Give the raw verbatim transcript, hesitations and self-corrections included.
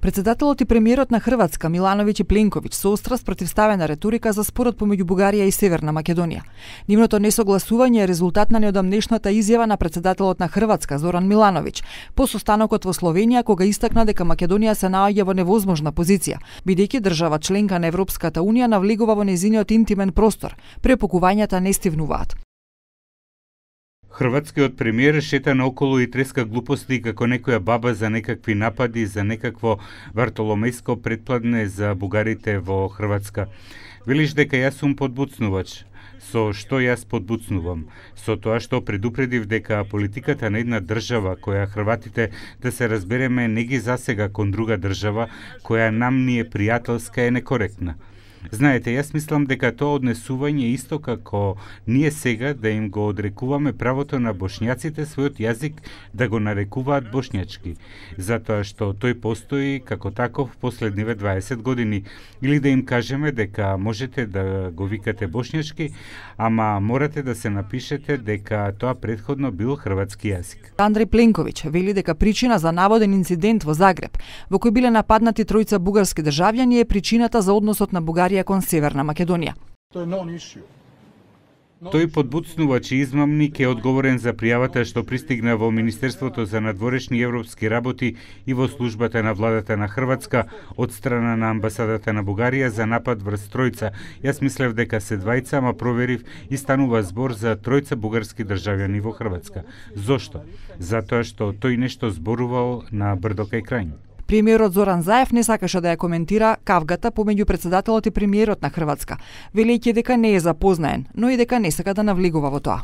Председателот и премиерот на Хрватска Милановиќ и Пленковиќ со остра спротивставена реторика за спорот помеѓу Бугарија и Северна Македонија. Нивното несогласување е резултат на неодамнешната изјава на председателот на Хрватска Зоран Милановиќ по состанокот во Словенија, кога истакна дека Македонија се наоѓа во невозможна позиција, бидејќи држава членка на Европската унија навлегува во нејзиниот интимен простор. Препокувањата не стивнуваат. Хрватскиот премиер шета наоколу и треска глупости како некоја баба за некакви напади, за некакво вартоломејско предпладне за бугарите во Хрватска. Велиш дека јас сум подбуцнувач. Со што јас подбуцнувам? Со тоа што предупредив дека политиката на една држава која Хрватите, да се разбереме, не ги засега кон друга држава која нам ни е пријателска, е некоректна. Знаете, јас мислам дека тоа однесување исто како ние сега да им го одрекуваме правото на бошњаците својот јазик да го нарекуваат бошњачки, затоа што тој постои како таков последниве дваесет години, или да им кажеме дека можете да го викате бошњачки, ама морате да се напишете дека тоа претходно бил хрватски јазик. Андреј Пленковиќ вели дека причина за наводен инцидент во Загреб, во кој биле нападнати тројца бугарски државјани, е причината за односот на Бугарија кон Северна Македонија. Тој подбуцнувач и измамник е одговорен за пријавата што пристигна во Министерството за надворешни европски работи и во службата на владата на Хрватска од страна на амбасадата на Бугарија за напад врз тројца. Јас мислев дека се двајца, ама проверив и станува збор за тројца бугарски државјани во Хрватска. Зошто? Затоа што тој нешто зборувал на брдо кај Крањ. Премиерот Зоран Заев не сакаше да ја коментира кавгата помеѓу председателот и премиерот на Хрватска, велејќи дека не е запознаен, но и дека не сака да навлегува во тоа.